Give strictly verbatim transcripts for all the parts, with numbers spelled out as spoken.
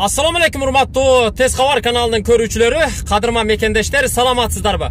Assalamu alaikum урматтуу Тез кабар каналынын көрүүчүлөрү, кадырман мекендештер, саламатсыздарбы?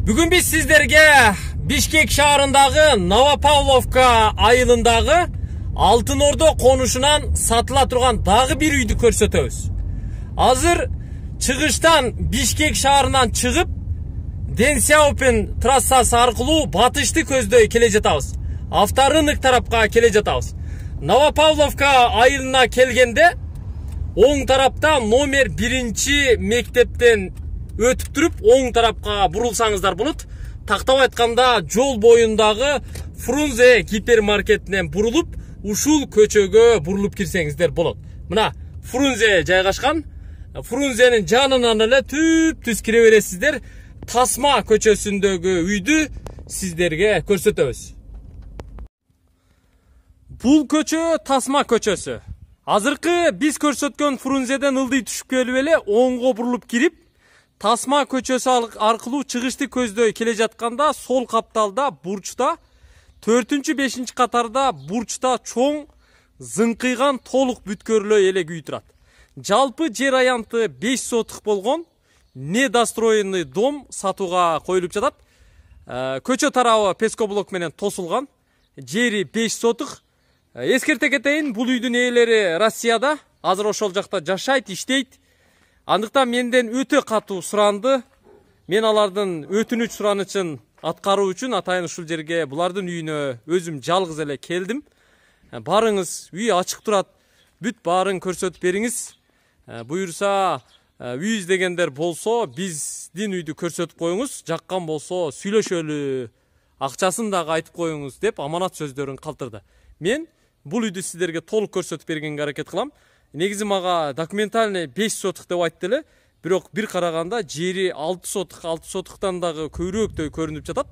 Бүгүн биз сиздерге Бишкек шаарындагы Новопавловка айылындагы Алтын Ордо конушунан сатыла турган дагы бир үйдү көрсөтөбүз. Азыр чыгыштан Бишкек шаарынан чыгып, Дэн Сяопин трассасы аркылуу батышты көздөй келе жатабыз. Авторынок тарапка келе жатабыз. Новопавловка айылына келгенде оң тарапта номер биринчи мектептен өтүп туруп, оң тарапка бурулсаңыздар болот. Тактап айтканда жол боюндагы Фрунзе гипермаркетинен бурулуп, ушул көчөгө бурулуп кирсеңиздер болот. Мына Фрунзе жайгашкан. Фрунзенин жанынан эле түп-түз кире бересиздер. Тасма көчөсүндөгү үйдү сиздерге көрсөтөбүз. Бул көчө Тасма көчөсү. Азыркы биз көрсөткөн Фрунзеден ылдый түшүп келип эле оңго бурулуп кирип, Тасма көчөсү аркылуу чыгышты көздөй келе жатканда сол капталда бурчта, төртүнчү бешинчи катарда бурчта чоң зыңкыйган толук бүткөрлөй элек үй турат. Жалпы жер аянты беш сотук болгон недостроенный дом сатууга коюлуп жатат. Көчө тарабы пескоблок менен тосулган. Жери беш сотук. Эскерте кетейин, бул үйдүн ээлери Россияда, азыр ошол жакта жашайт, иштейт. Андыктан менден өтө катуу суранды. Мен алардын өтүнүч суранычын аткаруу үчүн атайын ушул жерге булардын үйүнө өзүм жалгыз эле келдим. Барыңыз, үй ачык турат. Бүт баарын көрсөтүп бериңиз. Буюрса, үй издегендер болсо, биздин үйдү көрсөтүп коюңуз, жаккан болсо сүйлөшөлү, акчасын дагы айтып коюңуз деп аманат сөздөрүн калтырды. Мен бул үйдү сиздерге толук көрсөтүп бергенге аракет кылам. Негизи мага документальный беш сотук деп айтты эле, бирок бир караганда жери алты сотук, алты сотуктан дагы көбүрөөктөй көрүнүп жатат.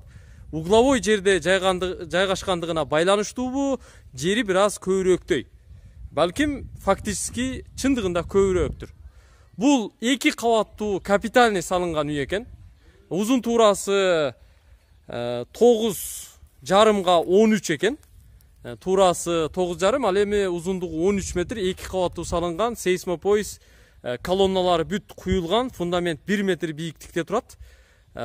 Угловой жерде жайгашкандыгына байланыштуубу, жери бир аз көбүрөөктөй. Балким фактически чындыгында көбүрөөктүр. Бул эки кабаттуу капитальный салынган үй экен. Узун туурасы тогуз жарымга он үч экен. Туурасы тогуз жарым, ал эми узундугу он үч метр, эки кабаттуу салынган, сейсмопоиз колонналары бүт куюлган, фундамент бир метр бийиктикте турат.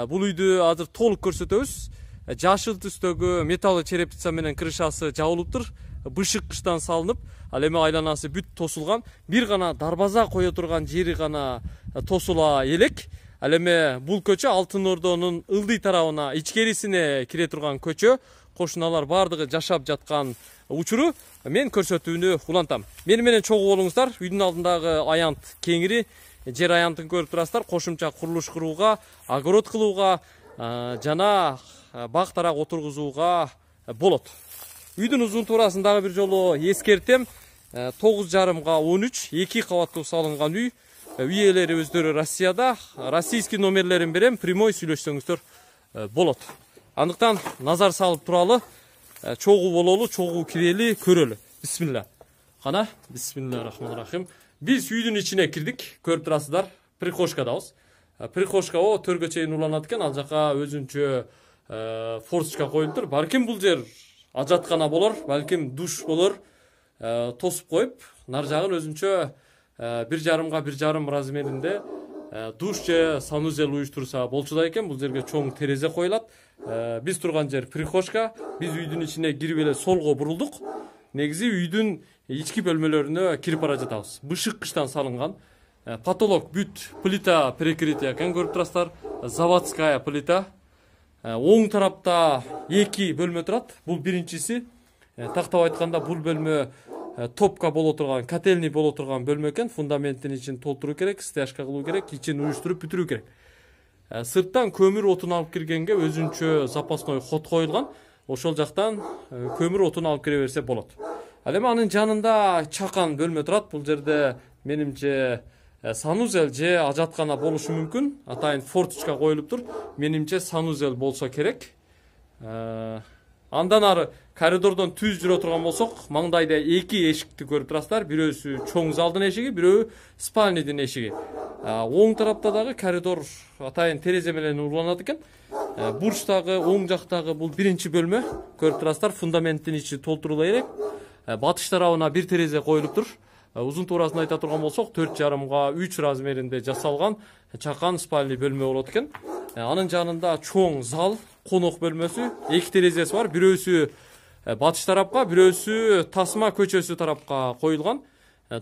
Бул үйдү азыр толук көрсөтөбүз. Жашыл түстөгү металл черепица менен крышасы жабылыптыр. Бышык кыштан салынып, ал эми айланасы бүт тосулган. Бир гана дарбаза кое турган жери гана тосула элек. Ал эми бул көчө Алтын Ордонун ылдый тарабына, ичкерисине кире турган көчө. Кошуналар бардыгы жашап жаткан учуру мен көрсөтүүнү улантам. Мени менен чогуу болуңуздар. Үйдүн алдындагы аянт кеңири, жер аянтын көрүп турасыздар. Кошумча курулуш курууга, огород кылууга жана бак тарак отургузууга болот. Үйдүн узун туурасын дагы бир жолу эскертем. тогуз жарымга он үч, эки кабаттуу салынган үй. Үй ээлери өздөрү Россияда. Российский номерлерин берем, прямой сүйлөшсөңүздөр болот. Андыктан назар салып туралы, чогуу бололу, чогуу кирели, көрөлү. Бисмилла. Кана, бисмиллахиррахманиррахим. Биз үйдүн ичине кирдик, көрүп турасыздар. Прихожкадабыз. Прихожка о төргө чейин уланат экен, ал жака өзүнчө форточка коюлуптур. Балким бул жер ажаткана болор, балким душ болор. Тосуп коюп, нар жагын өзүнчө бир жарымга бир жарым размеринде душ же санузел уюштурса болчу экен. Бул жерге чоң терезе коюлат. Биз турган жер прихожка. Биз үйдүн ичине кирип эле солго бурулдук. Негизи үйдүн ички бөлмөлөрүнө кирип бара жатабыз. Бышык кыштан салынган. Потолок бүт плита перекрытие экен, көрүп турасыздар. Заводская плита. Оң тарапта эки бөлмө турат. Бул биринчиси. Тактап айтканда бул бөлмө топка боло турган, котельный боло турган бөлмө экен. Фундаментин ичин толтуруу керек, стяжка кылуу керек, ичин уюштуруп бүтүрүү керек. Сырттан көмүр отун алып киргенге өзүнчө запасной ход коюлган. Ошол жактан көмүр отун алып кире берсе болот. Ал эми анын жанында чакан бөлмө турат. Бул жерде менимче санузел же ажаткана болушу мүмкүн. Атайын форточка коюлуптур. Менимче санузел болсо керек. Андан ары коридордон түз жүрө турган болсок, маңдайда эки эшикти көрүп турасыздар. Бирөөсү чоң залдын эшиги, бирөө спальныйдын эшиги. Оң тарапта дагы коридор атайын терезе менен уланат экен. Бурчтагы, оң жактагы бул биринчи бөлмө. Көрүп турасыздар, фундаменттин ичи толтурула элек. Батыш тарабына бир терезе коюлуптур. узун туурасын айта турган болсок, төрт жарымга үч размеринде жасалган чакан спальный бөлмө болот экен. Анын жанында чоң зал, конок бөлмөсү, эки терезеси бар. Бирөөсү батыш тарапка, бирөөсү Тасма көчөсү тарапка коюлган.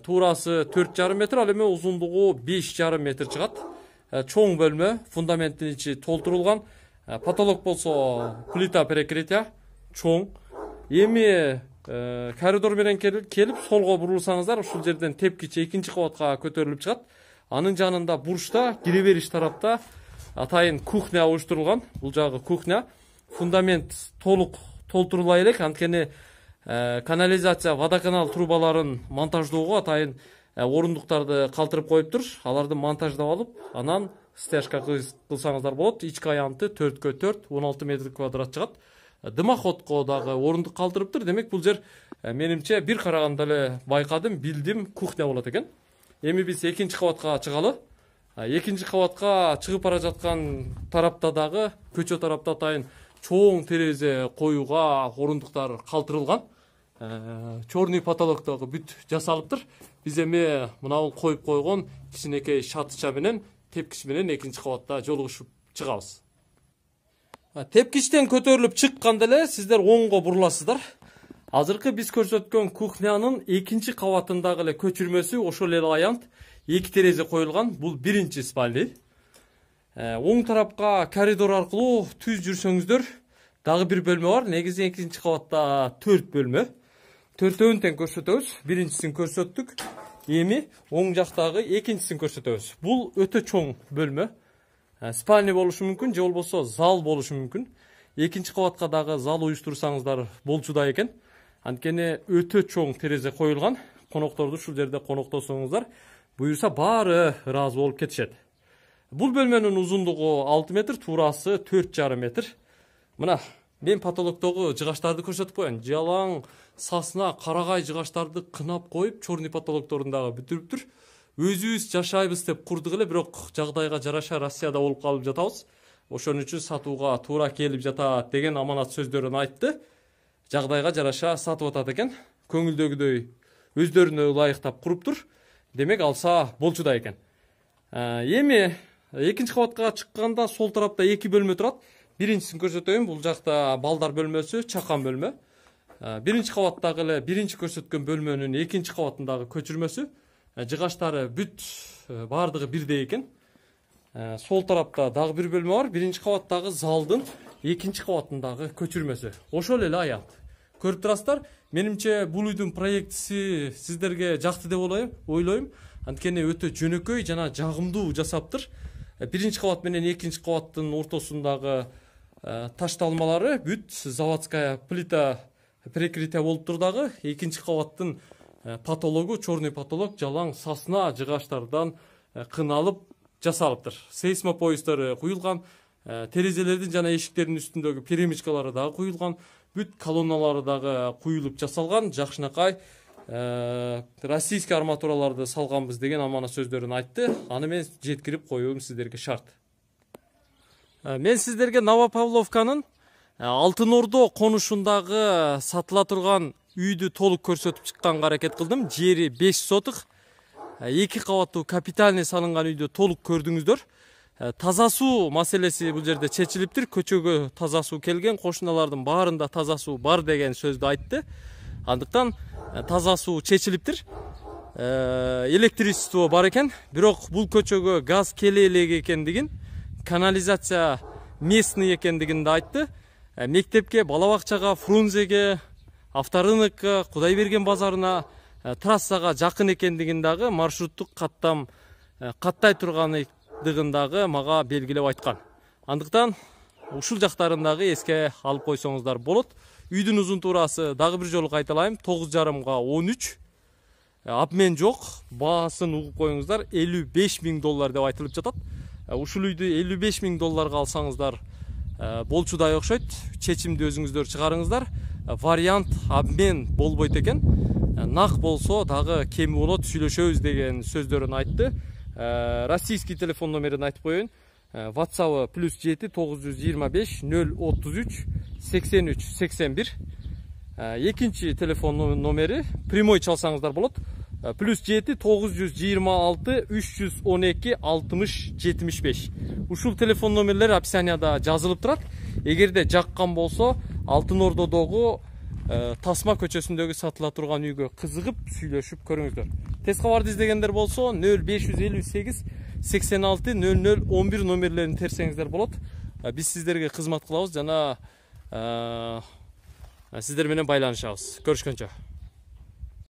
Туурасы төрт жарым метр, ал эми узундугу беш жарым метр чыгат. Чоң бөлмө, фундаменттин ичи толтурулган. Потолок болсо плита перекрытия, чоң. Эми коридор менен келип, солго бурулсаңыздар, ушул жерден тепкичи экинчи кабатка көтөрүлүп чыгат. Анын жанында бурчта, кире бериш тарапта атайын кухня уюштурулган. Бул жагы кухня. Фундамент толук толтурулай элек, анткени канализация, водоканал трубаларын монтаждоого атайын орундуктарды калтырып коюптур. Аларды монтаждап алып, анан стяжка кылсаңыздар болот. Ички аянты төрткө төрт, он алты метр квадрат чыгат. Дымоходко дагы орундук калтырыптыр. Демек, бул жер менимче бир караганда эле байкадым, билдим, кухня болот экен. Эми биз экинчи кабатка чыгалы. Экинчи кабатка чыгып бара жаткан тарапта дагы, көчө тарапта атайын чоң терезе коюуга орундуктар калтырылган. Чорный потолок дагы бүт жасалыптыр. Биз эми мынабул коюп койгон кичинекей шатыча менен, тепкич менен экинчи кабатта жолугушуп чыгабыз. Тепкичтен көтөрүлүп чыкканда эле сиздер оңго буруласыздар. Азыркы биз көрсөткөн кухнянын экинчи кабатындагы эле көчүрмөсү ошол эле аянт, эки терезе коюлган. Бул биринчи спальный. Оң тарапка коридор аркылуу түз жүрсөңүздөр, дагы бир бөлмө бар. Негизи экинчи кабатта төрт бөлмө. Төртөөнү тең көрсөтөбүз. Биринчисин көрсөттүк. Эми оң жактагы экинчисин көрсөтөбүз. Бул өтө чоң бөлмө. Спальный болушу мүмкүн, же болбосо зал болушу мүмкүн. Экинчи кабатка дагы зал уюштурсаңыздар болчудай экен. Анткени өтө чоң терезе коюлган. Конокторду ушул жерде коноктосоңуздар, буюрса баары ыраазы болуп кетишет. Бул бөлмөнүн узундугу алты метр, туурасы төрт жарым метр. Мына, мен потолоктогу жыгаштарды көрсөтүп коеюн. Жалаң сасына карагай жыгаштарды кынап коюп, чорный потолокторун дагы бүтүрүптүр. Өзүбүз жашайбыз деп курдук эле, бирок жагдайга жараша Россияда болуп калып жатабыз. Ошон үчүн сатууга туура келип жатат деген аманат сөздөрүн айтты. Жагдайга жараша сатып атат экен. Көңүлдөгүдөй өздөрүнө ылайыктап куруптур. Демек, алса болчудай экен. Эми экинчи кабатка чыкканда сол тарапта эки бөлмө турат. Биринчисин көрсөтөйүн. Бул жакта балдар бөлмөсү, чакан бөлмө. Биринчи кабаттагы эле биринчи көрсөткөн бөлмөнүн экинчи кабатындагы көчүрмөсү. Жыгаштары бүт бардыгы бирдей экен. Сол тарапта дагы бир бөлмө бар. Биринчи кабаттагы залдын экинчи кабатындагы көчүрмөсү. Ошол эле аянт. Көрүп турасыздар. Менимче бул үйдүн проектиси сиздерге жакты деп ойлойм. Анткени өтө жөнөкөй жана жагымдуу жасаптыр. Биринчи кабат менен экинчи кабаттын ортосундагы ташталмалары бүт заводская плита перекрытия болуптур дагы. Экинчи кабаттын потологу, чорный потолок жалаң сасна жыгаштардан кыналып жасалыптыр. Сейсмопоястары куюлган, терезелердин жана эшиктердин үстүндөгү перемычкалары дагы куюлган, бүт колонналары дагы куюлуп жасалган. Жакшынакай российский арматураларды салганбыз деген аманат сөздөрүн айтты. Аны мен жеткирип коюум сиздерге шарт. Мен сиздерге Новопавловканын Алтын Ордо конушундагы сатыла турган үйдү толук көрсөтүп чыкканга аракет кылдым. Жери беш сотык, эки кабаттуу капитальный салынган үйдү толук көрдүңүздөр. Таза суу маселеси бул жерде чечилиптир. Көчөгө таза суу келген, кошуналардын баарында таза суу бар деген сөздү айтты. Андыктан таза суу чечилиптир. Электричество бар экен, бирок бул көчөгө газ келе элек экендигин, канализация местный экендигин да айтты. Мектепке, бала бакчага, Фрунзеге, авторынокко, Кудайберген базарына, трассага жакын экендигин дагы маршруттук каттам каттай тургандыгын дагы мага белгилеп айткан. Андыктан ушул жактарын дагы эске алып койсоңуздар болот. Үйдүн узун туурасы дагы бир жолу кайталайм, тогуз жарымга он үч. Обмен жок, баасын угуп коюңуздар, элүү беш миң доллар деп айтылып жатат. Ушул үйдү элүү беш миң долларга алсаңыздар болчудай окшойт. Чечимди өзүңүздөр чыгарыңыздар. Вариант обмен болбойт экен. Нак болсо дагы кеми болот, сүйлөшөбүз деген сөздөрүн айтты. Российский телефон номерин айтып коеюн. WhatsApp плюс жети тогуз жүз жыйырма беш нөл отуз үч сексен үч сексен бир. Экинчи телефон номери прямой чалсаңыздар болот. плюс жети тогуз жүз жыйырма алты үч жүз он эки алтымыш жетимиш беш. Ушул телефон номерлери описанияда жазылып турат. Эгерде жаккан болсо, Алтын Ордодогу Тасма көчөсүндөгү сатыла турган үйгө кызыгып сүйлөшүп көрүңүздөр. Тез кабарды издегендер болсо нөл беш жүз элүү сегиз сексен алты нөл нөл он бир номерлерин терсеңиздер болот. Биз сиздерге кызмат кылабыз жана сиздер менен байланышабыз. Көрүшкөнчө.